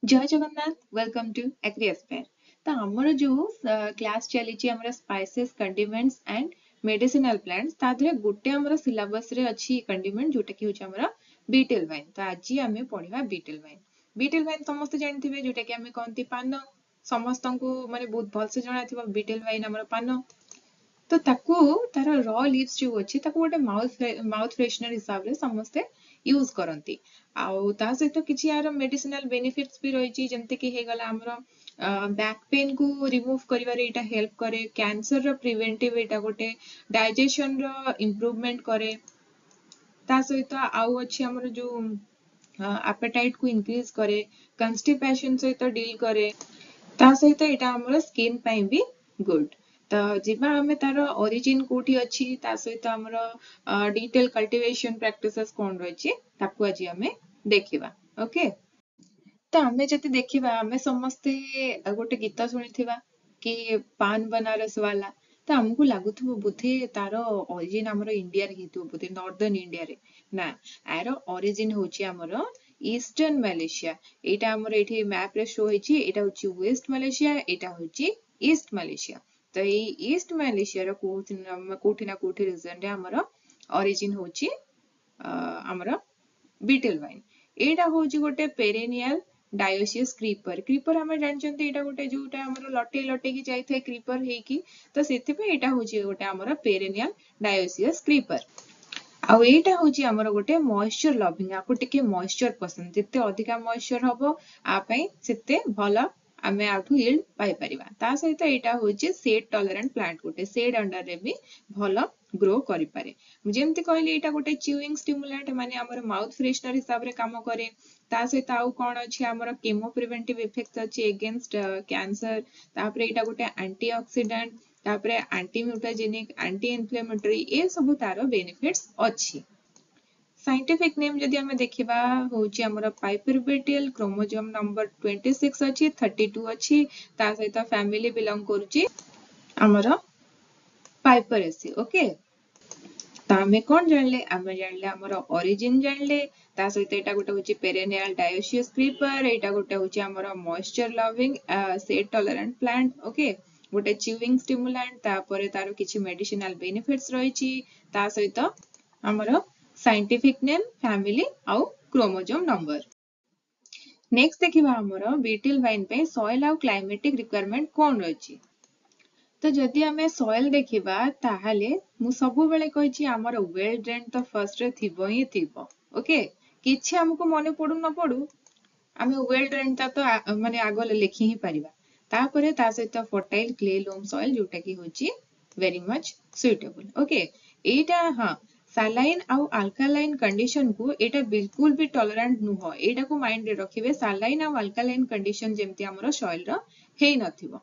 Jay Jagannath, welcome to agri Aspire. ତ ଆମର ଯୋଉ କ୍ଲାସ୍ ଚାଲିଛି ଆମର ସ୍ପାଇସେସ୍, କଣ୍ଡିମେଣ୍ଟସ୍ ଆଣ୍ଡ ମେଡିସିନାଲ ପ୍ଲାଣ୍ଟସ୍, ତା ଦେହରେ ଗୋଟେ ଆମର ସିଲାବସରେ ଅଛି କଣ୍ଡିମେଣ୍ଟ, ଯୋଉଟା କି ହଉଛି ଆମର ବିଟେଲ ଭାଇନ୍। ତ ଆଜି ଆମେ ପଢିବା ବିଟେଲ ଭାଇନ୍। ବିଟେଲ ଭାଇନ୍ ସମସ୍ତେ ଜାଣିଥିବେ, ଯୋଉଟା କି ଆମେ କହନ୍ତି ପାନ। ସମସ୍ତଙ୍କୁ ମାନେ ବହୁତ ଭଲସେ ଜଣାଥିବ ବିଟେଲ ଭାଇନ୍ ଆମର ପାନ। ତ ତାକୁ ତାର ର ଲିଭ୍ସ ଯୋଉ ଅଛି, ତାକୁ ଗୋଟେ ମାଉଥ ଫ୍ରେଶନର ହିସାବରେ ସମସ୍ତେ ୟୁଜ କରନ୍ତି। ଆଉ ତା ସହିତ କିଛି ଏହାର ମେଡିସିନାଲ ବେନିଫିଟ୍ସ ବି ରହିଛି, ଯେମିତିକି ହେଇଗଲା ଆମର ବ୍ୟାକ୍ ପେନ୍ କୁ ରିମୁଭ୍ କରିବାରେ ଏଇଟା ହେଲ୍ପ କରେ, କ୍ୟାନ୍ସରର ପ୍ରିଭେଣ୍ଟିଭ ଏଇଟା ଗୋଟେ, ଡାଇଜେସନର ଇମ୍ପ୍ରୁଭମେଣ୍ଟ କରେ। ତା ସହିତ ଆଉ ଅଛି ଆମର ଯୋଉ ଆପେଟାଇଟ୍ କୁ ଇନକ୍ରିଜ କରେ, କନଷ୍ଟିପେସନ ସହିତ ଡିଲ୍ କରେ। ତା ସହିତ ଏଇଟା ଆମର ସ୍କିନ୍ ପାଇଁ ବି ଗୁଡ୍। ତ ଯିବା ଆମେ ତାର ଅରିଜିନ କୋଉଠି ଅଛି, ତା ସହିତ ଆମର ଡିଟେଲ କଲ୍ଟିଭେସନ ପ୍ରାକ୍ଟିସେସ୍ କଣ ରହିଛି, ତାକୁ ଆଜି ଆମେ ଦେଖିବା। ଓକେ, ତ ଆମେ ଯଦି ଦେଖିବା, ଆମେ ସମସ୍ତେ ଗୋଟେ ଗୀତ ଶୁଣିଥିବା କି ପାନ ବନାରସ ବାଲା। ତ ଆମକୁ ଲାଗୁଥିବ ବୋଧେ ତାର ଅରିଜିନ ଆମର ଇଣ୍ଡିଆରେ ହେଇଥିବ, ବୋଧେ ନର୍ଦର୍ନ ଇଣ୍ଡିଆରେ। ନା, ଆର ଅରିଜିନ ହଉଛି ଆମର ଇଷ୍ଟର୍ନ ମାଲେସିଆ। ଏଇଟା ଆମର ଏଇଠି ମ୍ୟାପରେ ଶୋ ହେଇଛି। ଏଇଟା ହଉଛି ୱେଷ୍ଟ ମାଲେସିଆ, ଏଇଟା ହଉଛି ଇଷ୍ଟ ମାଲେସିଆ। ତ ଏଇ ଇଷ୍ଟ ମାଲେସିଆର କୋଉଠି ନା କୋଉଠି ରିଜନରେ ଆମର ଅରିଜିନ ହଉଛି ଆମର ବିଟେଲ ଭାଇନ୍। ଏଇଟା ହଉଛି ଗୋଟେ ପେରେନିଆଲ ଡାયોସିୟସ୍ କ୍ରିପର। କ୍ରିପର ଆମେ ଜାଣିଛନ୍ତି, ଏଇଟା ଗୋଟେ ଯୋଉଟା ଆମର ଲଟେଇ ଲଟେଇକି ଯାଇଥାଏ କ୍ରିପର ହେଇକି। ତ ସେଥିପାଇଁ ଏଇଟା ହଉଛି ଗୋଟେ ଆମର ପେରେନିଆଲ ଡାયોସିୟସ୍ କ୍ରିପର। ଆଉ ଏଇଟା ହଉଛି ଆମର ଗୋଟେ ମଏଶ୍ଚର ଲଭିଂ। ଆକୁ ଟିକେ ମଏଶ୍ଚର ପସନ୍ଦ। ଯେତେ ଅଧିକା ମଏଶ୍ଚର ହବ ଆ ପାଇଁ, ସେତେ ଭଲ ଆମେ ଆଠୁ yield ପାଇପାରିବା। ତା ସହିତ ଏଇଟା ହଉଛି ସେଡ୍ ଟଲରାଣ୍ଟ ପ୍ଲାଣ୍ଟ, ଗୋଟେ ସେଡ୍ ଅଣ୍ଡରରେ ବି ଭଲ ଗ୍ରୋ କରିପାରେ। ମୁଁ ଯେମିତି କହିଲି, ଏଇଟା ଗୋଟେ ଚ୍ୟୁଇଂ ଷ୍ଟିମୁଲାଣ୍ଟ, ମାନେ ଆମର ମାଉଥ ଫ୍ରେଶନର ହିସାବରେ କାମ କରେ। ତା ସହିତ ଆଉ କଣ ଅଛି? ଆମର କେମୋ ପ୍ରିଭେଣ୍ଟିଭ ଇଫେକ୍ଟ ଅଛି ଏଗେନଷ୍ଟ କ୍ୟାନ୍ସର। ତାପରେ ଏଇଟା ଗୋଟେ ଆଣ୍ଟି ଅକ୍ସିଡାଣ୍ଟ, ତାପରେ ଆଣ୍ଟି ମ୍ୟୁଟାଜେନିକ, ଆଣ୍ଟି ଇନଫ୍ଲେମେଟୋରୀ, ଏ ସବୁ ତାର ବେନିଫିଟ୍ସ ଅଛି। ସାଇଣ୍ଟିଫିକ ନେମ୍ ଯଦି ଆମେ ଦେଖିବା, ହଉଛି ଆମର ପାଇପର ବେଟିଲ, କ୍ରୋମୋଜୋମ ନମ୍ବର 26 ଅଛି, 32 ଅଛି। ତା ସହିତ ଫ୍ୟାମିଲି ବିଲଙ୍ଗ କରୁଛି ଆମର ପାଇପରେସି। ଓକେ, ତ ଆମେ କଣ ଜାଣିଲେ? ଆମେ ଜାଣିଲେ ଆମର ଅରିଜିନ ଜାଣିଲେ, ତା ସହିତ ଏଇଟା ଗୋଟେ ହଉଛି ପେରେନିଆଲ ଡାયોସିୟସ୍ କ୍ରିପର, ଏଇଟା ଗୋଟେ ହଉଛି ଆମର moisture loving shade tolerant plant, okay, ଗୋଟେ ଚ୍ୟୁଇଂ ଷ୍ଟିମୁଲାଣ୍ଟ। ତାପରେ ତାର କିଛି ମେଡିସିନାଲ ବେନିଫିଟ୍ସ ରହିଛି। ତା ସହିତ ଆମର ସାଇଣ୍ଟିଫିକ ନେମ୍, ଫ୍ୟାମିଲି ଆଉ କ୍ରୋମୋଜୋମ ନମ୍ବର। ନେକ୍ସଟ ଦେଖିବା ଆମର ବିଟିଲ ଭାଇନ୍ ପାଇଁ ସଏଲ ଆଉ କ୍ଲାଇମେଟିକ ରିକ୍ୱାରମେଣ୍ଟ କଣ ରହିଛି। ତ ଯଦି ଆମେ ସଏଲ ଦେଖିବା, ତାହେଲେ ମୁଁ ସବୁବେଳେ କହିଛି ଆମର ୱେଲ ଡ୍ରେନ୍ ତ ଫର୍ଷ୍ଟରେ ଥିବ ହିଁ ଥିବ। ଓକେ, କିଛି ଆମକୁ ମନେ ପଡୁ ନ ପଡୁ, ଆମେ ୱେଲ ଡ୍ରେନ୍ ଟା ତ ମାନେ ଆଗ ଲେଖି ହିଁ ପାରିବା। ତାପରେ ତା ସହିତ ଫର୍ଟାଇଲ କ୍ଲେ ଲୋମ ସଏଲ, ଯୋଉଟା କି ହଉଛି ଭେରି ମଚ୍ ସୁଇଟେବଲ। ଓକେ, ଏଇଟା ହଁ ସାଲାଇନ୍ ଆଉ ଆଲକାଲାଇନ୍ କଣ୍ଡିସନ କୁ ଏଇଟା ବିଲକୁଲ ବି ଟଲରାଣ୍ଟ ନୁହଁ। ଏଇଟାକୁ ମାଇଣ୍ଡରେ ରଖିବେ, ସାଲାଇନ୍ ଆଉ ଆଲକାଲାଇନ୍ କଣ୍ଡିସନ ଯେମିତି ଆମର ସଏଲ ର ହେଇନଥିବ।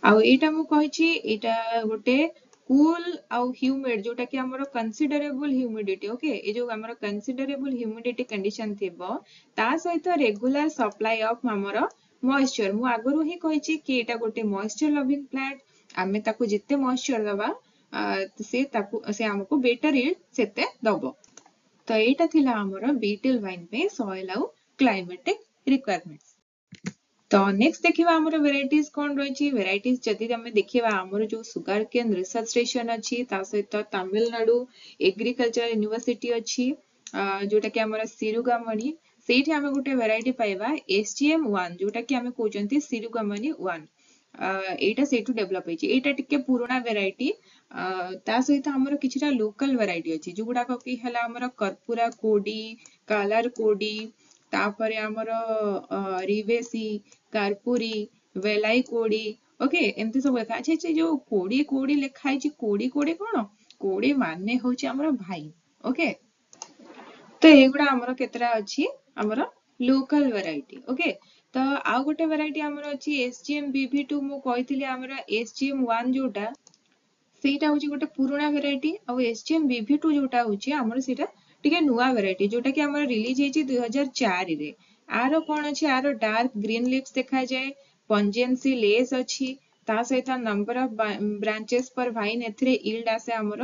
ଆଉ ଏଇଟା ମୁଁ କହିଛି, ଏଇଟା ଗୋଟେ କୁଲ ଆଉ ହ୍ୟୁମିଡ, ଯୋଉଟା କି ଆମର କନସିଡରେବଲ ହ୍ୟୁମିଡିଟି। ଓକେ, ଏ ଯୋଉ ଆମର କନସିଡରେବଲ ହ୍ୟୁମିଡିଟି କଣ୍ଡିସନ ଥିବ, ତା ସହିତ ରେଗୁଲାର ସପ୍ଲାଇ ଅଫ ଆମର ମଏଶ୍ଚର। ମୁଁ ଆଗରୁ ହିଁ କହିଛି କି ଏଇଟା ଗୋଟେ ମଏଶ୍ଚର ଲଭିଂ ପ୍ଲାଣ୍ଟ। ଆମେ ତାକୁ ଯେତେ ମଏଶ୍ଚର ଦବା, ସେ ତାକୁ ସେ ଆମକୁ ବେଟର yield ସେତେ ଦବ। ତ ଏଇଟା ଥିଲା ଆମର ବିଟେଲ ଭାଇନ୍ ପାଇଁ ସଏଲ ଆଉ କ୍ଲାଇମେଟିକ ରିକ୍ୱାରମେଣ୍ଟ। ତ ନେକ୍ସଟ ଦେଖିବା ଆମର ଭେରାଇଟିଜ କଣ ରହିଛି। ଭେରାଇଟିଜ ଯଦି ଆମେ ଦେଖିବା, ଆମର ଯୋଉ ସୁଗାର କେନ୍ ରିସର୍ଚ୍ଚ ଷ୍ଟେସନ ଅଛି, ତା ସହିତ ତାମିଲନାଡୁ ଏଗ୍ରିକଲଚର ୟୁନିଭର୍ସିଟି ଅଛି, ଯୋଉଟା କି ଆମର ସିରୁଗାମଣି, ସେଇଠି ଆମେ ଗୋଟେ ଭେରାଇଟି ପାଇବା SGM 1, ଯୋଉଟା କି ଆମେ କହୁଛନ୍ତି ସିରୁଗାମଣି 1। ଏଇଟା ସେଇଠୁ ଡେଭଲପ ହେଇଛି। ଏଇଟା ଟିକେ ପୁରୁଣା ଭେରାଇଟି। ତା ସହିତ ଆମର କିଛିଟା ଲୋକାଲ ଭେରାଇଟି ଅଛି, ଯୋଉଗୁଡାକ କି ହେଲା ଆମର କର୍ପୁରା କୋଡି, କାଲାର କୋଡି, ତାପରେ ଆମର ରିବେସି, କାର୍ପୁରୀ, ବେଲାଇ କୋଡି। ଓକେ, ଏମିତି ସବୁ ଲେଖା ଅଛି। ଯୋଉ କୋଡି କୋଡି ଲେଖା ହେଇଛି, କୋଡି କୋଡି କଣ? କୋଡି ମାନେ ହଉଛି ଆମର ଭାଇ। ଓକେ, ତ ଏଇଗୁଡା ଆମର କେତେଟା ଅଛି ଆମର ଲୋକାଲ ଭେରାଇଟି। ଓକେ, ତ ଆଉ ଗୋଟେ ଭେରାଇଟି ଆମର ଅଛି SGM BV2। ମୁଁ କହିଥିଲି ଆମର SGM 1 ଯୋଉଟା, ସେଇଟା ହଉଛି ଗୋଟେ ପୁରୁଣା ଭେରାଇଟି, ଆଉ SGM BV2 ଯୋଉଟା ହଉଛି ଆମର, ସେଇଟା ଟିକେ ନୂଆ ଭେରାଇଟି, ଯୋଉଟା କି ଆମର ରିଲିଜ ହେଇଛି 2004ରେ। ଆର କଣ ଅଛି? ଆର ଡାର୍କ ଗ୍ରୀନ ଲିଭ୍ସ ଦେଖାଯାଏ, ପଞ୍ଜେନ୍ସି ଲେସ୍ ଅଛି। ତା ସହିତ ନମ୍ବର ଅଫ ବ୍ରାଞ୍ଚେସ୍ ପର ଭାଇନ୍, ଏଥିରେ yield ଆସେ ଆମର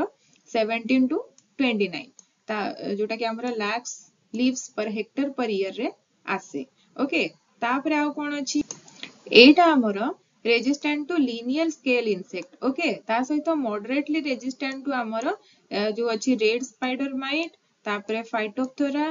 17 ଟୁ 29, ତା ଯୋଉଟା କି ଆମର ଲାକ୍ସ ଲିଭ୍ସ ପର ହେକ୍ଟର ପର ଇୟର ରେ ଆସେ। ଓକେ। ତାପରେ ଆଉ କଣ ଅଛି? ଏଇଟା ଆମର resistant to linear scale insect, okay। ତା ସହିତ ମଡରେଟଲି ରେଜିଷ୍ଟାଣ୍ଟ ଟୁ ଆମର ଯୋଉ ଅଛି ରେଡ୍ ସ୍ପାଇଡର ମାଇଟ୍, ତାପରେ ଫାଇଟୋପଥୋରା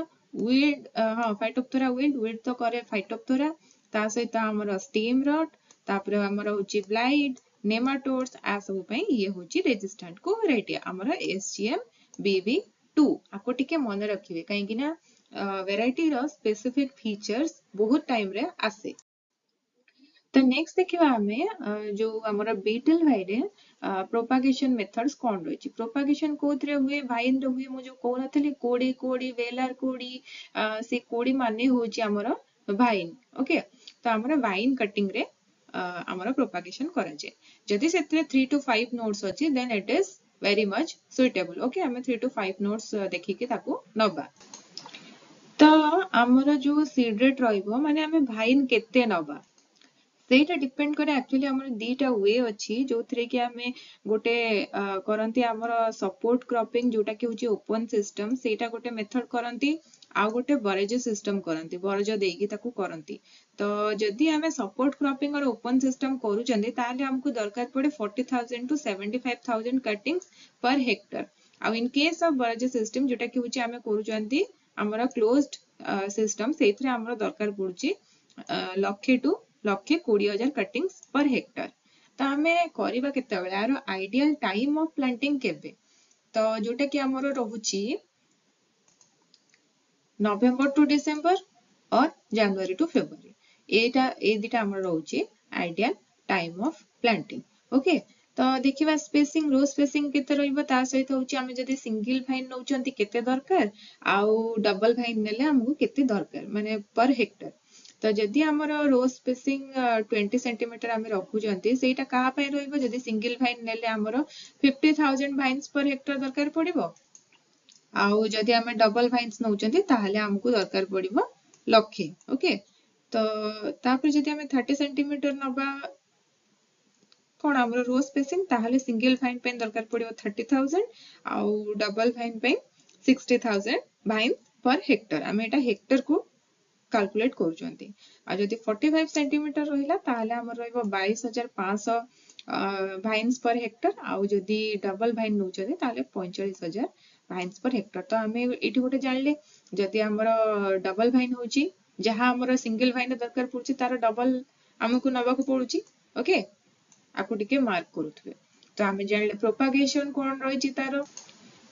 ୱିଲ୍ଟ। ହଁ, ଫାଇଟୋପଥୋରା ୱିଲ୍ଟ, ୱିଲ୍ଟ ତ କରେ ଫାଇଟୋପଥୋରା। ତା ସହିତ ଆମର ଷ୍ଟେମ୍ ରଟ୍, ତାପରେ ଆମର ହଉଛି ବ୍ଲାଇଟ୍, ନେମାଟୋଡ୍ସ, ଆ ସବୁ ପାଇଁ ଇଏ ହଉଛି ରେଜିଷ୍ଟାଣ୍ଟ କୁ ଭେରାଇଟି ଆମର SGM BV2। ଆକୁ ଟିକେ ମନେ ରଖିବେ, କାହିଁକି ନା ଭେରାଇଟିର ସ୍ପେସିଫିକ ଫିଚର୍ସ ବହୁତ ଟାଇମରେ ଆସେ। ତ ନେକ୍ସଟ ଦେଖିବା ଆମେ ଯୋଉ ଆମର ବିଟଲ ଭାଇରେ ପ୍ରୋପାଗେସନ ମେଥଡ୍ସ କଣ ରହିଛି। ପ୍ରୋପାଗେସନ କୋଉଥିରେ ହୁଏ? ଭାଇନରେ ହୁଏ। ମୁଁ ଯୋଉ କହୁନଥିଲି କୋଡି କୋଡି, ବେଲାର କୋଡି, ସେ କୋଡି ମାନେ ହଉଛି ଆମର ଭାଇନ, ଓକେ। ତ ଆମର ଭାଇନ କଟିଂ ରେ ଆମର ପ୍ରୋପାଗେସନ କରାଯାଏ। ଯଦି ସେଥିରେ 3 ଟୁ 5 ନୋଡ୍ସ ଅଛି, then it is very much suitable, okay। ଆମେ 3 ଟୁ 5 ନୋଡ୍ସ ଦେଖିକି ତାକୁ ନବା। ତ ଆମର ଯୋଉ ସିଡ୍ ରେଟ୍ ରହିବ, ମାନେ ଆମେ ଭାଇନ କେତେ ନବା, ସେଇଟା ଡିପେଣ୍ଡ କରେ। ଆକ୍ଚୁଆଲି ଆମର ଦିଟା we ଅଛି, ଯୋଉଥିରେ କି ଆମେ ଗୋଟେ କରନ୍ତି ଆମର ସପୋର୍ଟ କ୍ରପିଂ, ଯୋଉଟା କି ହଉଛି ଓପନ ସିଷ୍ଟମ, ସେଇଟା ଗୋଟେ ମେଥଡ କରନ୍ତି। ଆଉ ଗୋଟେ ବରଜ ସିଷ୍ଟମ କରନ୍ତି, ବରଜ ଦେଇକି ତାକୁ କରନ୍ତି। ତ ଯଦି ଆମେ ସପୋର୍ଟ କ୍ରପିଂ और ଓପନ ସିଷ୍ଟମ କରୁଛନ୍ତି, ତାହେଲେ ଆମକୁ ଦରକାର ପଡେ 40,000 to 75,000 cuttings per hectare। ଆଉ ଇନ କେସ୍ ଅଫ ବରଜ ସିଷ୍ଟମ, ଯୋଉଟା କି ହଉଛି ଆମେ କରୁଛନ୍ତି ଆମର କ୍ଲୋଜଡ ସିଷ୍ଟମ, ସେଇଥିରେ ଆମର ଦରକାର ପଡୁଛି 1 ଲକ୍ଷ ଟୁ 1,20,000 କଟିଂସ୍ ପର ହେକ୍ଟର। ତ ଆମେ କରିବା କେତେବେଳେ? ଆର ଆଇଡିଆଲ ଟାଇମ ଅଫ ପ୍ଲାଣ୍ଟିଂ କେବେ? ତ ଯୋଉଟା କି ଆମର ରହୁଛି November to December or January to February। ଏଇଟା ଏଇ ଦିଟା ଆମର ରହୁଛି ideal time of planting, okay। ତ ଦେଖିବା ସ୍ପେସିଂ, ରୋ ସ୍ପେସିଂ କେତେ ରହିବ। ତା ସହିତ ହଉଛି ଆମେ ଯଦି ସିଙ୍ଗଲ ଭାଇନ ନଉଛନ୍ତି କେତେ ଦରକାର, ଆଉ ଡବଲ ଭାଇନ ନେଲେ ଆମକୁ କେତେ ଦରକାର, ମାନେ ପର ହେକ୍ଟର। ତ ଯଦି ଆମର ରୋ ସ୍ପେସିଂ 20 ସେଣ୍ଟିମିଟର ଆମେ ରଖୁଛନ୍ତି, ସେଇଟା କାହା ପାଇଁ ରହିବ? ଯଦି ସିଙ୍ଗଲ ଭାଇନ ନେଲେ ଆମର 50,000 ଭାଇନ୍ସ ପର ହେକ୍ଟର ଦରକାର ପଡିବ। ଆଉ ଯଦି ଆମେ ଡବଲ ଭାଇନ୍ସ ନଉଛନ୍ତି, ତାହେଲେ ଆମକୁ ଦରକାର ପଡିବ ଲକ୍ଷେ, ଓକେ। ତ ତାପରେ ଯଦି ଆମେ 30 ସେଣ୍ଟିମିଟର ନବା କଣ ଆମର ରୋ ସ୍ପେସିଂ, ତାହେଲେ ସିଙ୍ଗଲ ଭାଇନ ପାଇଁ ଦରକାର ପଡିବ 30,000 ଆଉ ଡବଲ ଭାଇନ ପାଇଁ 60,000 ଭାଇନ ପର ହେକ୍ଟର। ଆମେ ଏଇଟା ହେକ୍ଟରକୁ କାଲକୁଲେଟ କରୁଛନ୍ତି। ଆଉ ଯଦି 45 ସେଣ୍ଟିମିଟର ରହିଲା, ତାହେଲେ ଆମର ରହିବ 22,500 ଭାଇନ୍ସ ପର ହେକ୍ଟର। ଆଉ ଯଦି ଡବଲ ଭାଇନ ନଉଛନ୍ତି, ତାହେଲେ 45,000 ଭାଇନ୍ସ ପର ହେକ୍ଟର। ତ ଆମେ ଏଇଠି ଗୋଟେ ଜାଣିଲେ, ଯଦି ଆମର ଡବଲ ଭାଇନ ହଉଛି, ଯାହା ଆମର ସିଙ୍ଗଲ ଭାଇନ ଦରକାର ପଡୁଛି, ତାର ଡବଲ ଆମକୁ ନବାକୁ ପଡୁଛି, ଓକେ। ଆକୁ ଟିକେ ମାର୍କ କରୁଥିବେ। ତ ଆମେ ଜାଣିଲେ ପ୍ରୋପାଗେସନ କଣ ରହିଛି ତାର,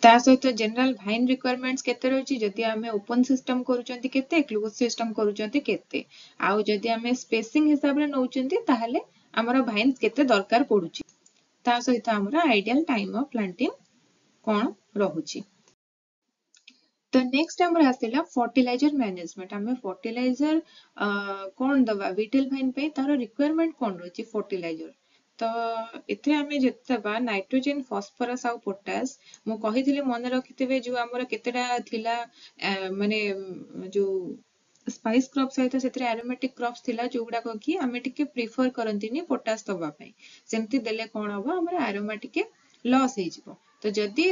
ତା ସହିତ ଜେନେରାଲ ଭାଇନ ରିକ୍ୱାରମେଣ୍ଟସ କେତେ ରହିଛି, ଯଦି ଆମେ ଓପନ ସିଷ୍ଟମ କରୁଛନ୍ତି କେତେ, କ୍ଲୋଜ ସିଷ୍ଟମ କରୁଛନ୍ତି କେତେ, ଆଉ ଯଦି ଆମେ ସ୍ପେସିଂ ହିସାବରେ ନଉଛନ୍ତି, ତାହେଲେ ଆମର ଭାଇନ୍ସ କେତେ ଦରକାର ପଡୁଛି, ତା ସହିତ ଆମର ଆଇଡିଆଲ ଟାଇମ ଅଫ ପ୍ଲାଣ୍ଟିଂ କଣ ରହୁଛି। ତ ନେକ୍ସଟ ଆମର ଆସିଲା ଫର୍ଟିଲାଇଜର ମ୍ୟାନେଜମେଣ୍ଟ। ଆମେ ଫର୍ଟିଲାଇଜର କଣ ଦବା ବିଟେଲ ଭାଇନ ପାଇଁ, ତାର ରିକ୍ୱାରମେଣ୍ଟ କଣ ରହିଛି ଫର୍ଟିଲାଇଜର? ତ ଏଥିରେ ଆମେ ଯେତେ ଦେବା ନାଇଟ୍ରୋଜେନ, ଫସଫରସ ଆଉ ପୋଟାସ। ମୁଁ କହିଥିଲି, ମନେ ରଖିଥିବେ, ଯୋଉ ଆମର କେତେଟା ଥିଲା, ମାନେ ଯୋଉ ସ୍ପାଇସ୍ କ୍ରପ୍ ସହିତ ସେଥିରେ ଆରୋମେଟିକ କ୍ରପ୍ସ ଥିଲା, ଯୋଉଗୁଡାକ କି ଆମେ ଟିକେ ପ୍ରିଫର କରନ୍ତିନି ପୋଟାସ ଦବା ପାଇଁ। ସେମିତି ଦେଲେ କଣ ହବ? ଆମର ଆରୋମା ଟିକେ ଲସ୍ ହେଇଯିବ। ତ ଯଦି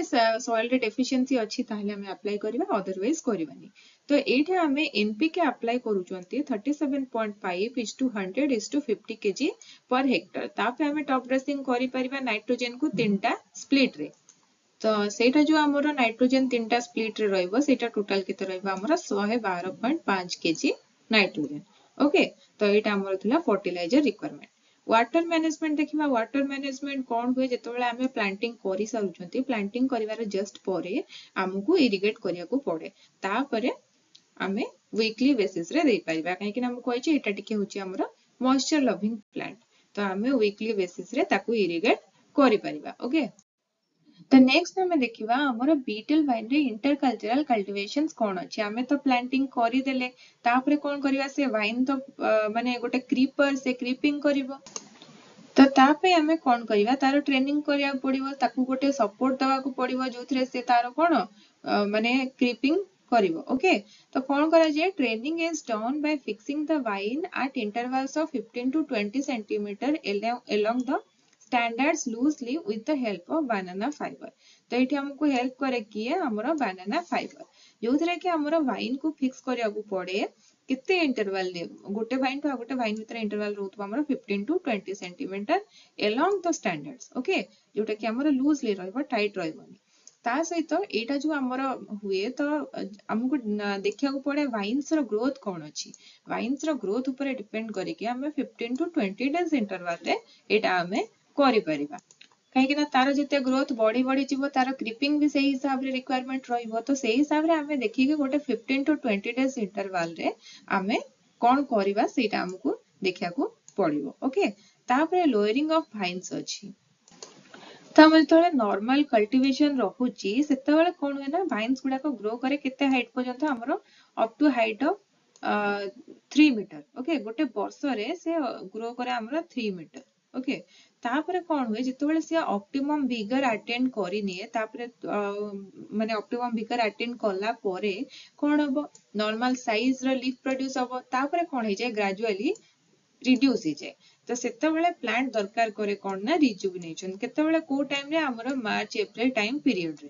ସଏଲରେ ଡେଫିସିଏନ୍ସି ଅଛି, ତାହେଲେ ଆମେ ଆପ୍ଲାଏ କରିବା, ଅଦରୱାଇଜ କରିବାନି। ତ ଏଇଠି ଆମେ ଏନପିକେ ଆପ୍ଲାଏ କରୁଛନ୍ତି 37.5 is to 100 is to 50 kg per hectare। ତାପରେ ଆମେ ଟପ୍ ଡ୍ରେସିଂ କରିପାରିବା ନାଇଟ୍ରୋଜେନକୁ ତିନିଟା ସ୍ପ୍ଲିଟରେ। ତ ସେଇଟା ଯୋଉ ଆମର ନାଇଟ୍ରୋଜେନ ତିନିଟା ସ୍ପ୍ଲିଟରେ ରହିବ, ସେଇଟା ଟୋଟାଲ କେତେ ରହିବ ଆମର? 112.5 କେଜି ନାଇଟ୍ରୋଜେନ, ଓକେ। ତ ଏଇଟା ଆମର ଥିଲା ଫର୍ଟିଲାଇଜର ରିକ୍ୱାରମେଣ୍ଟ। ୱାଟର ମ୍ୟାନେଜମେଣ୍ଟ ଦେଖିବା। ୱାଟର ମ୍ୟାନେଜମେଣ୍ଟ କଣ ହୁଏ? ଯେତେବେଳେ ଆମେ ପ୍ଲାଣ୍ଟିଂ କରିସାରୁଛନ୍ତି, ପ୍ଲାଣ୍ଟିଂ କରିବାର ଜଷ୍ଟ ପରେ ଆମକୁ ଇରିଗେଟ କରିବାକୁ ପଡେ। ତାପରେ ଆମେ ୱିକଲି ବେସିସରେ ଦେଇପାରିବା, କାହିଁକି ନା ମୁଁ କହିଛି ଏଇଟା ଟିକେ ହଉଛି ଆମର ମଏଶ୍ଚର ଲଭିଂ ପ୍ଲାଣ୍ଟ। ତ ଆମେ ୱିକଲି ବେସିସରେ ତାକୁ ଇରିଗେଟ କରିପାରିବା, ଓକେ। ତ ନେକ୍ସଟ ଆମେ ଦେଖିବା ଆମର ବିଟେଲ ଭାଇନରେ ଇଣ୍ଟରକଲଚରାଲ କଲ୍ଟିଭେସନ୍ସ କଣ ଅଛି। ଆମେ ତ ପ୍ଲାଣ୍ଟିଂ କରିଦେଲେ, ତାପରେ କଣ କରିବା? ସେ ଭାଇନ ତ ମାନେ ଗୋଟେ କ୍ରିପର, ସେ କ୍ରିପିଂ କରିବ। ତ ତା ପାଇଁ ଆମେ କଣ କରିବା? ତାର ଟ୍ରେନିଂ କରିବାକୁ ପଡିବ, ତାକୁ ଗୋଟେ ସପୋର୍ଟ ଦବାକୁ ପଡିବ, ଯୋଉଥିରେ ସେ ତାର କଣ ମାନେ କ୍ରିପିଂ କରିବ, ଓକେ। ତ କଣ କରାଯାଏ? Training is done by fixing the vine at intervals of 15 to 20 centimeter along the standards loosely with the help of banana fiber। ତ ଏଇଠି ଆମକୁ ହେଲ୍ପ କରେ କିଏ? ଆମର ବାନାନା ଫାଇବର। ଯୋଉଥିରେ କି ଆମର ଭାଇନ୍ କୁ ଫିକ୍ସ କରିବାକୁ ପଡେ କେତେ ଇଣ୍ଟରଭାଲ, ଗୋଟେ ଭାଇନ୍ ଟୁ ଆଉ ଗୋଟେ ଭାଇନ୍ ଭିତରେ ଇଣ୍ଟରଭାଲ ରହୁଥିବ ଆମର 15 to 20 centimeter along the standards, okay? ଯୋଉଟା କି ଆମର ଲୁଜଲି ରହିବ, ଟାଇଟ୍ ରହିବନି। ତା ସହିତ ଏଇଟା ଯୋଉ ଆମର ହୁଏ, ତ ଆମକୁ ଦେଖିବାକୁ ପଡେ ଭାଇନ୍ସ ର ଗ୍ରୋଥ କଣ ଅଛି। ଭାଇନ୍ସ ର ଗ୍ରୋଥ ଉପରେ ଡିପେଣ୍ଡ କରିକି ଆମେ 15 ଟୁ 20 ଡେଜ ଇଣ୍ଟରଭାଲରେ ଏଇଟା ଆମେ କରିପାରିବା। କାହିଁକି ନା ତାର ଯେତେ ଗ୍ରୋଥ ବଢି ବଢି ଯିବ, ତାର କ୍ରିପିଂ ବି ସେଇ ହିସାବରେ ରିକ୍ୱାରମେଣ୍ଟ ରହିବ। ତ ସେଇ ହିସାବରେ ଆମେ ଦେଖିକି ଗୋଟେ 15 ଟୁ 20 ଡେଜ ଇଣ୍ଟରଭାଲରେ ଆମେ କଣ କରିବା, ସେଇଟା ଆମକୁ ଦେଖିବାକୁ ପଡିବ, ଓକେ? ତାପରେ ଲୋୟରିଂ ଅଫ ଭାଇନ୍ସ ଅଛି। ତ ଆମର ଯେତେବେଳେ ନର୍ମାଲ କଲ୍ଟିଭେସନ ରହୁଛି, ସେତେବେଳେ କଣ ହୁଏ ନା ଭାଇନ୍ସ ଗୁଡାକ ଗ୍ରୋ କରେ କେତେ ହାଇଟ୍ ପର୍ଯ୍ୟନ୍ତ? ଆମର up to height of 3 meter, okay? ଗୋଟେ ବର୍ଷରେ ସେ ଗ୍ରୋ କରେ ଆମର 3 ମିଟର, ଓକେ? ତାପରେ କଣ ହୁଏ, ଯେତେବେଳେ ସିଏ ଅପ୍ଟିମମ୍ ଭିଗର ଆଟେଣ୍ଡ କରିନିଏ, ତାପରେ ମାନେ ଅପ୍ଟିମମ୍ ଭିଗର ଆଟେଣ୍ଡ କଲା ପରେ କଣ ହବ? ନର୍ମାଲ ସାଇଜ ର ଲିଫ୍ ପ୍ରଡ୍ୟୁସ ହବ। ତାପରେ କଣ ହେଇଯାଏ? ଗ୍ରାଜୁଆଲି ରିଡ୍ୟୁସ ହେଇଯାଏ। ତ ସେତେବେଳେ ପ୍ଲାଣ୍ଟ ଦରକାର କରେ କଣ ନା ରିଜୁଭିନେସନ। କେତେବେଳେ, କୋଉ ଟାଇମରେ? ଆମର ମାର୍ଚ୍ଚ ଏପ୍ରିଲ ଟାଇମ ପିରିୟଡରେ।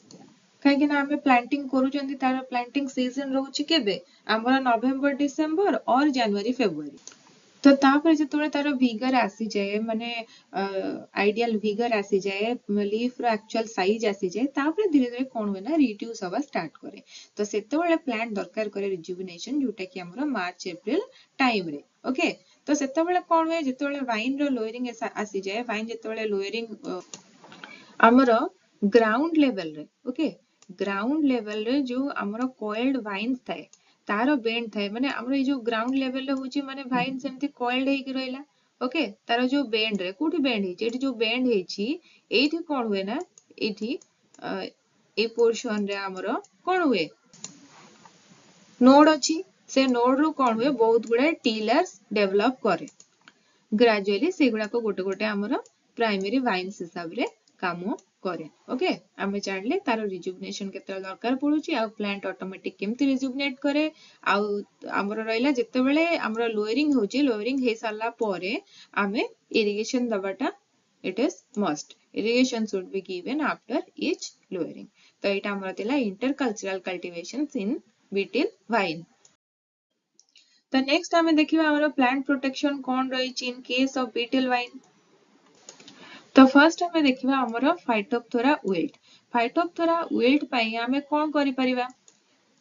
କାହିଁକି ନା ଆମେ ପ୍ଲାଣ୍ଟିଂ କରୁଛନ୍ତି, ତାର ପ୍ଲାଣ୍ଟିଂ ସିଜନ ରହୁଛି କେବେ? ଆମର ନଭେମ୍ବର, ଡିସେମ୍ବର ଅର ଜାନୁଆରୀ, ଫେବୃଆରୀ। ତ ତାପରେ ଯେତେବେଳେ ତାର ଭିଗର ଆସିଯାଏ, ମାନେ ଆଇଡିଆଲ ଭିଗର ଆସିଯାଏ, ଲିଫ୍ ର ଆକ୍ଚୁଆଲ ସାଇଜ ଆସିଯାଏ, ତାପରେ ଧୀରେ ଧୀରେ କଣ ହୁଏ ନା ରିଡ୍ୟୁସ ହବା ଷ୍ଟାର୍ଟ କରେ। ତ ସେତେବେଳେ ପ୍ଲାଣ୍ଟ ଦରକାର କରେ ରିଜୁଭିନେସନ, ଯୋଉଟା କି ଆମର ମାର୍ଚ୍ଚ ଏପ୍ରିଲ ଟାଇମରେ, ଓକେ? ତ ସେତେବେଳେ କଣ ହୁଏ, ଯେତେବେଳେ ଭାଇନ ର ଲୋୟରିଂ ଆସିଯାଏ, ଭାଇନ ଯେତେବେଳେ ଲୋୟରିଂ ଆମର ଗ୍ରାଉଣ୍ଡ ଲେଭେଲରେ, ଓକେ, ଗ୍ରାଉଣ୍ଡ ଲେଭେଲରେ ଯୋଉ ଆମର କଏଲ୍ଡ ଭାଇନ୍ସ ଥାଏ, ତାର ବେଣ୍ଡ ଥାଏ, ମାନେ ଆମର ଏଇ ଯୋଉ ଗ୍ରାଉଣ୍ଡ ଲେଭେଲରେ ହଉଛି, ମାନେ ଭାଇନ ସେମିତି କଏଲ୍ଡ ହେଇକି ରହିଲା, ଓକେ? ତାର ଯୋଉ ବେଣ୍ଡ ରେ କୋଉଠି ବେଣ୍ଡ ହେଇଛି, ଏଠି ଯୋଉ ବେଣ୍ଡ ହେଇଛି, ଏଇଠି କଣ ହୁଏ ନା ଏଇଠି ଏଇ ପୋର୍ସନ ରେ ଆମର କଣ ହୁଏ? ନୋଡ ଅଛି। ସେ ନୋଡ ରୁ କଣ ହୁଏ? ବହୁତ ଗୁଡାଏ ଟିଲର୍ସ ଡେଭଲପ କରେ ଗ୍ରାଜୁଆଲି। ସେଗୁଡାକ ଗୋଟେ ଗୋଟେ ଆମର ପ୍ରାଇମେରୀ ଭାଇନ୍ସ ହିସାବରେ କାମ କରେ, ଓକେ? ଆମେ ଜାଣିଲେ ତାର ରିଜୁଭିନେସନ କେତେବେଳେ ଦରକାର ପଡୁଛି ଆଉ ପ୍ଲାଣ୍ଟ ଅଟୋମେଟିକ କେମିତି ରିଜୁଭିନେଟ କରେ। ଆଉ ଆମର ରହିଲା, ଯେତେବେଳେ ଆମର ଲୋୟରିଂ ହଉଛି, ଲୋୟରିଂ ହେଇସାରିଲା ପରେ ଆମେ irrigation ଦବାଟା it is must. Irrigation should be given after each lowering. ତ ଏଇଟା ଆମର ଥିଲା intercultural cultivations in betel vine. ତ ନେକ୍ସଟ ଆମେ ଦେଖିବା ଆମର ପ୍ଲାଣ୍ଟ ପ୍ରୋଟେକ୍ସନ କଣ ରହିଛି in case of betel vine. ତ ଫାର୍ଷ୍ଟ ଆମେ ଦେଖିବା ଆମର ଫାଇଟୋପଥୋରା ୱିଲ୍ଟ। ଫାଇଟୋପଥୋରା ୱିଲ୍ଟ ପାଇଁ ଆମେ କଣ କରିପାରିବା?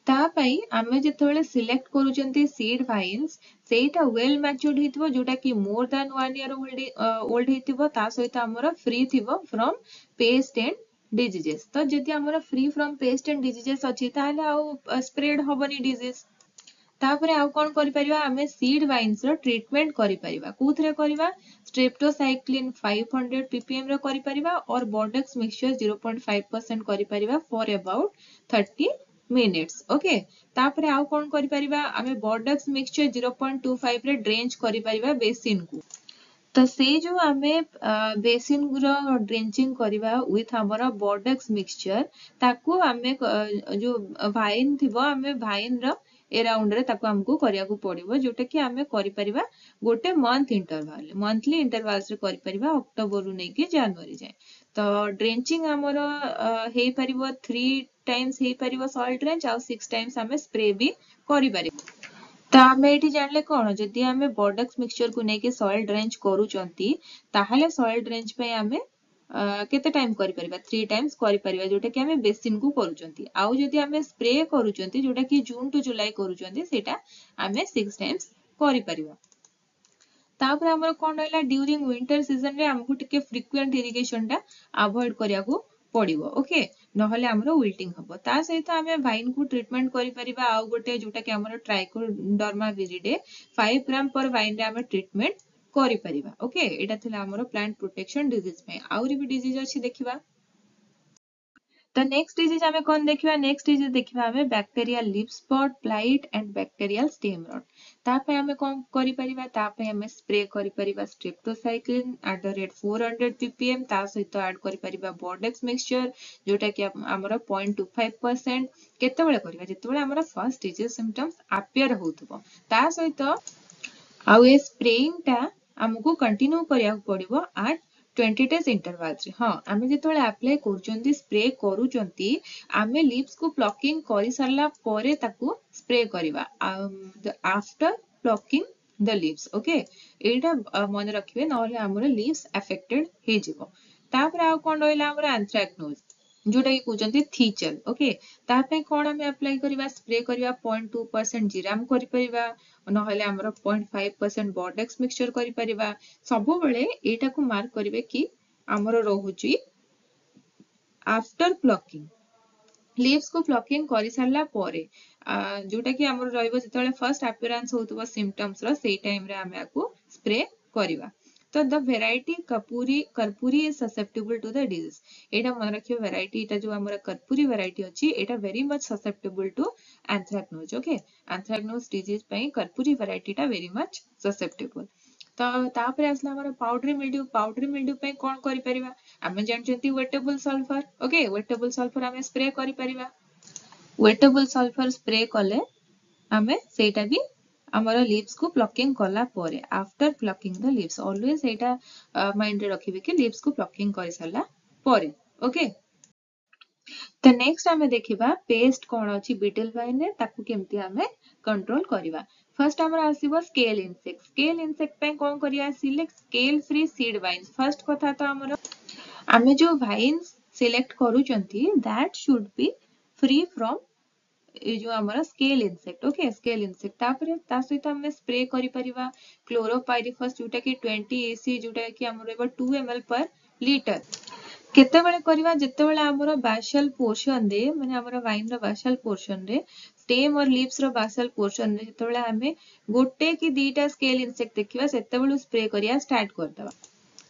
ତା ପାଇଁ ଆମେ ଯେତେବେଳେ ସିଲେକ୍ଟ କରୁଛନ୍ତି ସିଡ୍ ଭାଇନ୍ସ, ସେଇଟା ୱେଲ୍ ମ୍ୟାଚୁର୍ଡ ହେଇଥିବ, ଯୋଉଟା କି more than one year old ହେଇଥିବ। ତା ସହିତ ଆମର ଫ୍ରି ଥିବ ଫ୍ରମ୍ ପେଷ୍ଟ ଆଣ୍ଡ ଡିଜିଜେସ୍। ତ ଯଦି ଆମର free from pest and diseases ଅଛି, ତାହେଲେ ଆଉ ସ୍ପ୍ରେଡ ହବନି ଡିଜିଜ। ତାପରେ ଆଉ କଣ କରିପାରିବା ଆମେ? ସିଡ୍ ଭାଇନ୍ସ ର ଟ୍ରିଟମେଣ୍ଟ କରିପାରିବା। କୋଉଥିରେ କରିବା? ଷ୍ଟ୍ରେପ୍ଟୋସାଇକ୍ଲିନ 500 ppm ର କରିପାରିବା ଅର ବୋର୍ଡକ୍ସ ମିକ୍ସଚର 0.5% କରିପାରିବା for about 30 minutes, okay? ତାପରେ ଆଉ କଣ କରିପାରିବା ଆମେ? ବୋର୍ଡକ୍ସ ମିକ୍ସଚର 0.25 ରେ ଡ୍ରେଞ୍ଚ କରିପାରିବା ବେସିନ କୁ। ତ ସେଇ ଯୋଉ ଆମେ ବେସିନ ର ଡ୍ରେଞ୍ଚିଂ କରିବା ୱିଥ ଆମର ବୋର୍ଡକ୍ସ ମିକ୍ସଚର, ତାକୁ ଆମେ ଯୋଉ ଭାଇନ ଥିବ, ଆମେ ଭାଇନ ର ଏରାଉଣ୍ଡ ରେ ତାକୁ ଆମକୁ କରିବାକୁ ପଡିବ, ଯୋଉଟା କି ଆମେ କରିପାରିବା ଗୋଟେ ମନ୍ଥ ଇଣ୍ଟରଭାଲ, ମନ୍ଥଲି ଇଣ୍ଟରଭାଲ୍ସ ରେ କରିପାରିବା, ଅକ୍ଟୋବରରୁ ନେଇକି ଜାନୁଆରୀ ଯାଏଁ। ତ ଡ୍ରେଞ୍ଚିଂ ଆମର ହେଇପାରିବ, ଥ୍ରୀ ଟାଇମ୍ସ ହେଇପାରିବ ସଏଲ ଡ୍ରେଞ୍ଚ ଆଉ ସିକ୍ସ ଟାଇମ୍ସ ଆମେ ସ୍ପ୍ରେ ବି କରିପାରିବା। ତ ଆମେ ଏଇଠି ଜାଣିଲେ କଣ, ଯଦି ଆମେ ବୋର୍ଡକ୍ସ ମିକ୍ସଚରକୁ ନେଇକି ସଏଲ ଡ୍ରେଞ୍ଚ କରୁଛନ୍ତି, ତାହେଲେ ସଏଲ ଡ୍ରେଞ୍ଚ ପାଇଁ ଆମେ କେତେ ଟାଇମ କରିପାରିବା? ଥ୍ରୀ ଟାଇମ୍ସ କରିପାରିବା, ଯୋଉଟା କି ଆମେ ବେସିନ କୁ କରୁଛନ୍ତି। ଆଉ ଯଦି ଆମେ ସ୍ପ୍ରେ କରୁଛନ୍ତି, ଯୋଉଟା କି ଜୁନ ଟୁ ଜୁଲାଇ କରୁଛନ୍ତି, ସେଇଟା ଆମେ ସିକ୍ସ ଟାଇମ୍ସ କରିପାରିବା। ତାପରେ ଆମର କଣ ରହିଲା? ଡ୍ୟୁରିଂ ୱିଣ୍ଟର ସିଜନ ରେ ଆମକୁ ଟିକେ ଫ୍ରିକ୍ୱେଣ୍ଟ ଇରିଗେସନ ଟା ଆଭଏଡ କରିବାକୁ ପଡିବ, ଓକେ? ନହେଲେ ଆମର ୱିଲ୍ଟିଂ ହବ। ତା ସହିତ ଆମେ ଭାଇନ କୁ ଟ୍ରିଟମେଣ୍ଟ କରିପାରିବା ଆଉ ଗୋଟେ, ଯୋଉଟା କି ଆମର ଟ୍ରାଇକୋଡର୍ମା ଭିରିଡେ, 5 ଗ୍ରାମ ପର ଭାଇନ ରେ ଆମେ ଟ୍ରିଟମେଣ୍ଟ କରିପାରିବା, ଓକେ? ଏଇଟା ଥିଲା ଆମର ପ୍ଲାଣ୍ଟ ପ୍ରୋଟେକ୍ସନ ଡିଜିଜ ପାଇଁ। ଆହୁରି ବି ଡିଜିଜ ଅଛି, ଦେଖିବା। ତ ନେକ୍ସଟ ଡିଜିଜ ଆମେ କଣ ଦେଖିବା? ନେକ୍ସଟ ଡିଜିଜ ଦେଖିବା ଆମେ bacterial leaf spot, blight and bacterial stem rot। ତା ପାଇଁ ଆମେ କଣ କରିପାରିବା? ତା ପାଇଁ ଆମେ ସ୍ପ୍ରେ କରିପାରିବା streptocycline at the rate 400 ppm। ତା ସହିତ ଆଡ୍ କରିପାରିବା ବୋର୍ଡେକ୍ସ ମିକ୍ସଚର, ଯୋଉଟା କି ଆମର 0.25%। କେତେବେଳେ କରିବା? ଯେତେବେଳେ ଆମର ଫାର୍ଷ୍ଟ ଡିଜିଜ ସିମ୍ପଟମ୍ସ ଆପିୟର ହଉଥିବ। ତା ସହିତ ଆଉ ଏ ସ୍ପ୍ରେଇଂ ଟା ଆମକୁ କଣ୍ଟିନ୍ୟୁ କରିବାକୁ ପଡିବ ଆଟ୍ 20 ଡେଜ୍ ଇଣ୍ଟରଭାଲ୍ସରେ। ହଁ, ଆମେ ଯେତେବେଳେ ଆପ୍ଲାଏ କରୁଛନ୍ତି, ସ୍ପ୍ରେ କରୁଛନ୍ତି, ଆମେ ଲିଭ୍ସକୁ ପ୍ଲକିଂ କରିସାରିଲା ପରେ ତାକୁ ସ୍ପ୍ରେ କରିବା, after plucking the leaves, okay? ଏଇଟା ମନେ ରଖିବେ, ନହେଲେ ଆମର ଲିଭ୍ସ ଆଫେକ୍ଟେଡ ହେଇଯିବ। ତାପରେ ଆଉ କଣ ରହିଲା? ଆମର ଆନ୍ଥ୍ରାକନୋଜ, ଯୋଉଟା କି କହୁଛନ୍ତି ଥିଚଲ, ଓକେ। ତା ପାଇଁ କଣ ଆମେ ଆପ୍ଲାଏ କରିବା, ସ୍ପ୍ରେ କରିବା? 0.2% ଜିରାମ କରିପାରିବା, ନହେଲେ ଆମର 0.5% ବର୍ଡେକ୍ସ ମିକ୍ସଚର କରିପାରିବା। ସବୁବେଳେ ଏଇଟାକୁ ମାର୍କ କରିବେ କି ଆମର ରହୁଛି ଆଫ୍ଟର ପ୍ଲକିଂ, ଲିଭ୍ସକୁ ପ୍ଲକିଂ କରିସାରିଲା ପରେ, ଯୋଉଟା କି ଆମର ରହିବ ଯେତେବେଳେ ଫର୍ଷ୍ଟ ଆପିୟରାନ୍ସ ହଉଥିବ ସିମ୍ପଟମ୍ସ ର, ସେଇ ଟାଇମରେ ଆମେ ଆକୁ ସ୍ପ୍ରେ କରିବା। ତ the variety Karpuri is susceptible to the disease. ଏଇଟା ମନେ ରଖିବେ, ଭେରାଇଟି ଏଇଟା ଯୋଉ ଆମର କର୍ପୁରୀ ଭେରାଇଟି ଅଛି, ଏଇଟା very much susceptible to anthracnose, okay? Anthracnose disease ପାଇଁ କର୍ପୁରୀ ଭେରାଇଟିଟା ଭେରି ମଚ୍ ସସେପ୍ଟେବଲ। ତ ତାପରେ ଆସିଲା ଆମର ପାଉଡରି ମିଲ୍ଡ୍ୟୁ। ପାଉଡରି ମିଲ୍ଡ୍ୟୁ ପାଇଁ କଣ କରିପାରିବା? ଆମେ ଜାଣିଛନ୍ତି ୱେଟେବଲ ସଲଫର, ଓକେ। ୱେଟେବଲ ସଲଫର ଆମେ ସ୍ପ୍ରେ କରିପାରିବା। ୱେଟେବଲ ସଲଫର ସ୍ପ୍ରେ କଲେ ଆମେ ସେଇଟା ବି ଆମର ଲିଭ୍ସକୁ ପ୍ଲକିଂ କଲା ପରେ, after plucking the leaves. Always ସେଇଟା ମାଇଣ୍ଡରେ ରଖିବେ କି ଲିଭ୍ସକୁ ପ୍ଲକିଂ କରିସାରିଲା ପରେ, ଓକେ। ତ ନେକ୍ସଟ ଆମେ ଦେଖିବା ପେଷ୍ଟ କଣ ଅଛି ବିଟଲ ଭାଇନରେ, ତାକୁ କେମିତି ଆମେ କଣ୍ଟ୍ରୋଲ କରିବା। ଫାର୍ଷ୍ଟ ଆମର ଆସିବ ସ୍କେଲ ଇନସେକ୍ଟ। ସ୍କେଲ ଇନସେକ୍ଟ ପାଇଁ କଣ କରିବା? Select scale free seed vines. First କଥା ତ ଆମର ଆମେ ଯୋଉ ଭାଇନ୍ସ ସିଲେକ୍ଟ କରୁଛନ୍ତି, that should be free from ଏଇ ଯୋଉ ଆମର scale insect, okay, scale insect. ତାପରେ ତା ସହିତ ଆମେ ସ୍ପ୍ରେ କରିପାରିବା କ୍ଲୋରୋପାଇରିଫସ୍, ଯୋଉଟା କି 20 EC, ଯୋଉଟା କି ଆମର ରହିବ 2 ml per litre। କେତେବେଳେ କରିବା? ଯେତେବେଳେ ଆମର ବାସାଲ ପୋର୍ସନରେ, ମାନେ ଆମର ଭାଇନ ର ବାସାଲ ପୋର୍ସନରେ, ଷ୍ଟେମ୍ ଅର ଲିଭ୍ସ ର ବାସାଲ ପୋର୍ସନରେ ଯେତେବେଳେ ଆମେ ଗୋଟେ କି ଦିଟା ସ୍କେଲ ଇନସେକ୍ଟ ଦେଖିବା, ସେତେବେଳୁ ସ୍ପ୍ରେ କରିବା ଷ୍ଟାର୍ଟ କରିଦବା।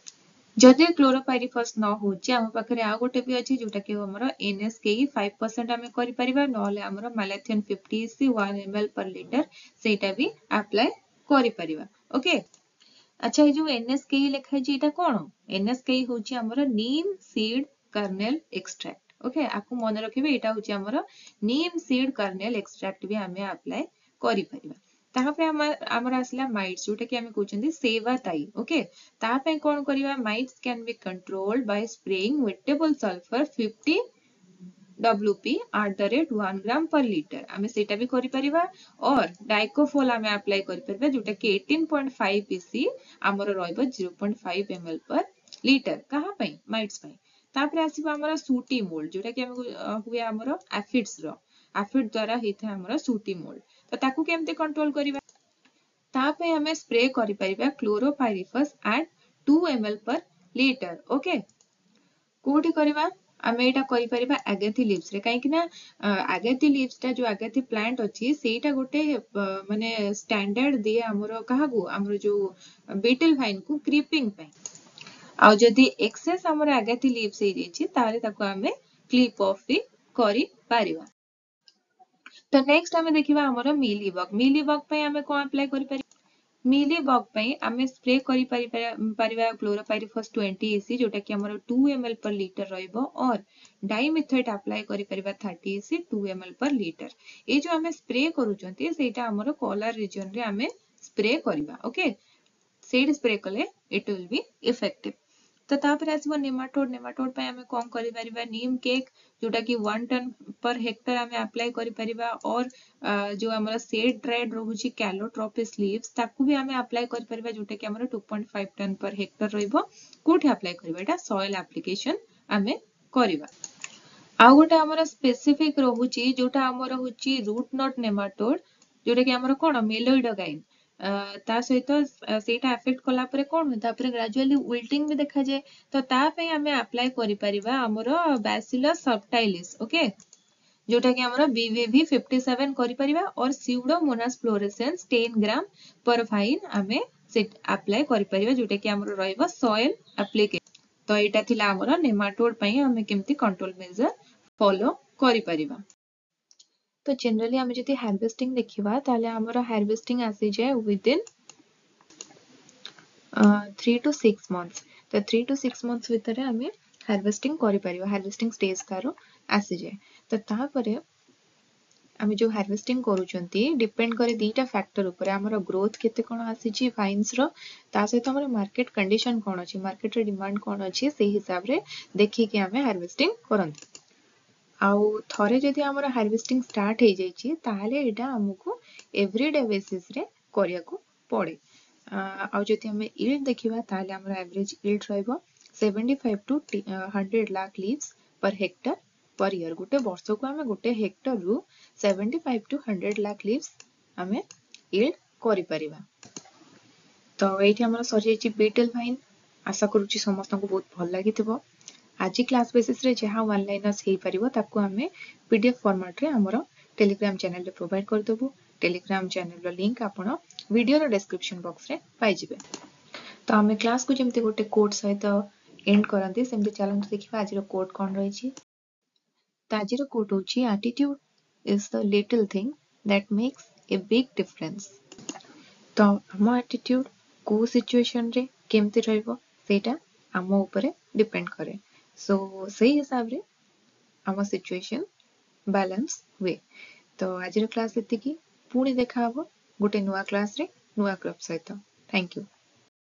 ଯଦି କ୍ଲୋରୋପାଇରିଫସ୍ ନ ହଉଛି, ଆମ ପାଖରେ ଆଉ ଗୋଟେ ବି ଅଛି, ଯୋଉଟା କି ଆମର ଏନଏସକେଇ 5% ଆମେ କରିପାରିବା, ନହେଲେ ଆମର malathion 50 EC 1 ml per litre, ସେଇଟା ବି ଆପ୍ଲାଏ କରିପାରିବା, ଓକେ। ଆଚ୍ଛା, ଏଇ ଯୋଉ ଏନଏସକେଇ ଲେଖା ହେଇଛି, ଏଇଟା କଣ? ଏନଏସକେଇ ହଉଛି ଆମର neem seed kernel extract, okay? ଆକୁ ମନେ ରଖିବେ, ଏଇଟା ହଉଛି ଆମର ନିମ୍ ସିଡ୍ କର୍ନେଲ ଏକ୍ସଟ୍ରାକ୍ଟ ବି ଆମେ ଆପ୍ଲାଏ କରିପାରିବା। ତାପରେ ଆମର ଆସିଲା ମାଇଟ୍ସ, ଯୋଉଟା କି ଆମେ କହୁଛନ୍ତି ସେବା ତାଇ, ଓକେ। ତା ପାଇଁ କଣ କରିବା? Mites can be controlled by spraying wettable sulphur 50 WP at the rate 1 gram per liter। ଆମେ ସେଇଟା ବି କରିପାରିବା ଅର୍ ଡାଇକୋଫୋଲ ଆମେ ଆପ୍ଲାଏ କରିପାରିବା, ଯୋଉଟା କି 18.5 EC ଆମର ରହିବ, 0.5 ml per litre। କାହା ପାଇଁ? ମାଇଟ୍ସ ପାଇଁ। ତାପରେ ଆସିବ ଆମର ସୁଟି ମୋଲ୍ଡ, ଯୋଉଟା କି ଆମେ ହୁଏ ଆମର ଆଫିଡ୍ସ ର, ଆଫିଡ ଦ୍ଵାରା ହେଇଥାଏ ଆମର ସୁଟି ମୋଲ୍ଡ। ତ ତାକୁ କେମିତି କଣ୍ଟ୍ରୋଲ କରିବା? ତା ପାଇଁ ଆମେ ସ୍ପ୍ରେ କରିପାରିବା chlorpyrifos at 2 ml per litre, okay? କୋଉଠି କରିବା ଆମେ ଏଇଟା? କରିପାରିବା ଆଗାଥି ଲିଭ୍ସ ରେ, କାହିଁକି ନା ଆଗାଥି ଲିଭ୍ସ ଟା, ଯୋଉ ଆଗାଥି ପ୍ଲାଣ୍ଟ ଅଛି, ସେଇଟା ଗୋଟେ ମାନେ ଷ୍ଟାଣ୍ଡାର୍ଡ ଦିଏ ଆମର କାହାକୁ? ଆମର ଯୋଉ ବିଟଲ ଭାଇନ କୁ କ୍ରିପିଂ ପାଇଁ। ଆଉ ଯଦି ଏକ୍ସେସ ଆମର ଆଗାଥି ଲିଭ୍ସ ହେଇଯାଇଛି, ତାହେଲେ ତାକୁ ଆମେ କ୍ଲିପ ଅଫ୍ ବି କରିପାରିବା। ତ ନେକ୍ସଟ ଆମେ ଦେଖିବା ଆମର ମିଲି ବଗ। ମିଲି ବଗ ପାଇଁ ଆମେ କଣ ଆପ୍ଲାଏ କରିପାରିବା? ମିଲି ବଗ ପାଇଁ ଆମେ ସ୍ପ୍ରେ କରିପାରିବା କ୍ଲୋରୋପାଇରିଫସ୍ 20 ଇସି, ଯୋଉଟା କି ଆମର 2 ml per litre ରହିବ, ଅର୍ ଡାଇମିଥେଟ୍ ଆପ୍ଲାଏ କରିପାରିବା 30 EC 2 ml per litre। ଏଇ ଯୋଉ ଆମେ ସ୍ପ୍ରେ କରୁଛନ୍ତି, ସେଇଟା ଆମର କଲାର ରିଜନରେ ଆମେ ସ୍ପ୍ରେ କରିବା, ଓକେ। ସେଇଠି ସ୍ପ୍ରେ କଲେ it will be effective। ତ ତାପରେ ଆସିବ ନେମାଟୋଡ। ନେମାଟୋଡ ପାଇଁ ଆମେ କଣ କରିପାରିବା? ନିମ୍ କେକ୍, ଯୋଉଟା କି 1 ଟନ୍ ପର ହେକ୍ଟର ଆମେ ଆପ୍ଲାଏ କରିପାରିବା, ଅର୍ ଯୋଉ ଆମର ସେଡ୍ ଡ୍ରାଏଡ୍ ରହୁଛି କ୍ୟାଲୋଟ୍ରପିସ୍ ଲିଭ୍ସ, ତାକୁ ବି ଆମେ ଆପ୍ଲାଏ କରିପାରିବା, ଯୋଉଟା କି ଆମର 2.5 ton per hectare ରହିବ। କୋଉଠି ଆପ୍ଲାଏ କରିବା ଏଇଟା? ସଏଲ ଆପ୍ଲିକେସନ ଆମେ କରିବା। ଆଉ ଗୋଟେ ଆମର ସ୍ପେସିଫିକ ରହୁଛି, ଯୋଉଟା ଆମର ହଉଛି ରୁଟ not ନେମାଟୋଡ, ଯୋଉଟା କି ଆମର କଣ ମେଲୋଇଡୋଗାଇନ୍। ତା ସହିତ ସେଇଟା ଆଫେକ୍ଟ କଲା ପରେ କଣ ହୁଏ? ତାପରେ ଗ୍ରାଜୁଆଲି ୱିଲ୍ଟିଂ ବି ଦେଖାଯାଏ। ତ ତା ପାଇଁ ଆମେ ଆପ୍ଲାଏ କରିପାରିବା ଆମର ବ୍ୟାସିଲସ୍ ସବଟାଇଲିସ୍, ଓକେ, ଯୋଉଟା କି ଆମର ବିଭିଭି 57 କରିପାରିବା, ଅର୍ Pseudomonas fluorescens 10 gram per vine ଆମେ ସେ ଆପ୍ଲାଏ କରିପାରିବା, ଯୋଉଟା କି ଆମର ରହିବ ସଏଲ ଆପ୍ଲିକେସନ। ତ ଏଇଟା ଥିଲା ଆମର ନେମାଟୋଡ ପାଇଁ ଆମେ କେମିତି କଣ୍ଟ୍ରୋଲ ମେଜର ଫଲୋ କରିପାରିବା। ତ ଜେନେରାଲି ଆମେ ଯଦି ହାର୍ଭେଷ୍ଟିଂ ଦେଖିବା, ତାହେଲେ ଆମର ହାର୍ଭେଷ୍ଟିଂ ଆସିଯାଏ ୱିଦିନ୍ 3 to 6 months। ତ 3 to 6 months ଭିତରେ ଆମେ ହାର୍ଭେଷ୍ଟିଂ କରିପାରିବା, ହାର୍ଭେଷ୍ଟିଂ ଷ୍ଟେଜ ତାର ଆସିଯାଏ। ତ ତାପରେ ଆମେ ଯେଉଁ ହାର୍ଭେଷ୍ଟିଂ କରୁଛନ୍ତି, ଡିପେଣ୍ଡ କରେ ଦୁଇଟା ଫ୍ୟାକ୍ଟର ଉପରେ: ଆମର ଗ୍ରୋଥ କେତେ କ'ଣ ଆସିଛି ଭାଇନ୍ସର, ତା ସହିତ ଆମର ମାର୍କେଟ କଣ୍ଡିସନ କ'ଣ ଅଛି, ମାର୍କେଟରେ ଡିମାଣ୍ଡ କ'ଣ ଅଛି, ସେଇ ହିସାବରେ ଦେଖିକି ଆମେ ହାର୍ଭେଷ୍ଟିଂ କରନ୍ତି। ଆଉ ଥରେ ଯଦି ଆମର ହାର୍ଭେଷ୍ଟିଂ ଷ୍ଟାର୍ଟ ହେଇଯାଇଛି, ତାହେଲେ ଏଇଟା ଆମକୁ ଏଭ୍ରିଡେ ବେସିସ୍ରେ କରିବାକୁ ପଡ଼େ। ଆଉ ଯଦି ଆମେ ଇଲ୍ଡ ଦେଖିବା, ତାହେଲେ ଆମର ଆଭରେଜ ଇଲ୍ଡ ରହିବ 75 to 100 lakh leaves per hectare per year. ଗୋଟେ ବର୍ଷକୁ ଆମେ ଗୋଟେ ହେକ୍ଟରରୁ 75 to 100 lakh leaves ଆମେ ଇଲ୍ଡ କରିପାରିବା। ତ ଏଇଠି ଆମର ସରିଯାଇଛି ବିଟେଲ ଭାଇନ୍। ଆଶା କରୁଛି ସମସ୍ତଙ୍କୁ ବହୁତ ଭଲ ଲାଗିଥିବ। ଆଜି କ୍ଲାସ୍ ବେସିସ୍ରେ ଯାହା ୱାନ୍ ଲାଇନର୍ସ ହେଇପାରିବ, ତାକୁ ଆମେ ପିଡିଏଫ୍ ଫର୍ମାଟ୍ରେ ଆମର ଟେଲିଗ୍ରାମ ଚ୍ୟାନେଲରେ ପ୍ରୋଭାଇଡ଼ କରିଦେବୁ। ଟେଲିଗ୍ରାମ ଚ୍ୟାନେଲର ଲିଙ୍କ ଆପଣ ଭିଡ଼ିଓର ଡେସ୍କ୍ରିପସନ୍ ବକ୍ସରେ ପାଇଯିବେ। ତ ଆମେ କ୍ଲାସ୍କୁ ଯେମିତି ଗୋଟେ କୋଟ୍ ସହିତ ଏଣ୍ଡ କରନ୍ତି, ସେମିତି ଚାଲନ୍ତୁ ଦେଖିବା ଆଜିର କୋଟ୍ କ'ଣ ରହିଛି। ତ ଆଜିର କୋଟ୍ ହେଉଛି, "Attitude is the little thing that makes a big difference." ତ ଆମ ଆଟିଟ୍ୟୁଡ୍ କେଉଁ ସିଚୁଏସନରେ କେମିତି ରହିବ, ସେଇଟା ଆମ ଉପରେ ଡିପେଣ୍ଡ କରେ। ସୋ ସେଇ ହିସାବରେ ଆମ ସିଚୁଏସନ୍ ବାଲାନ୍ସ ହୁଏ। ତ ଆଜିର କ୍ଲାସ୍ ଏତିକି। ପୁଣି ଦେଖାହବ ଗୋଟେ ନୂଆ କ୍ଲାସ୍ରେ ନୂଆ କ୍ରପ୍ ସହିତ। Thank you.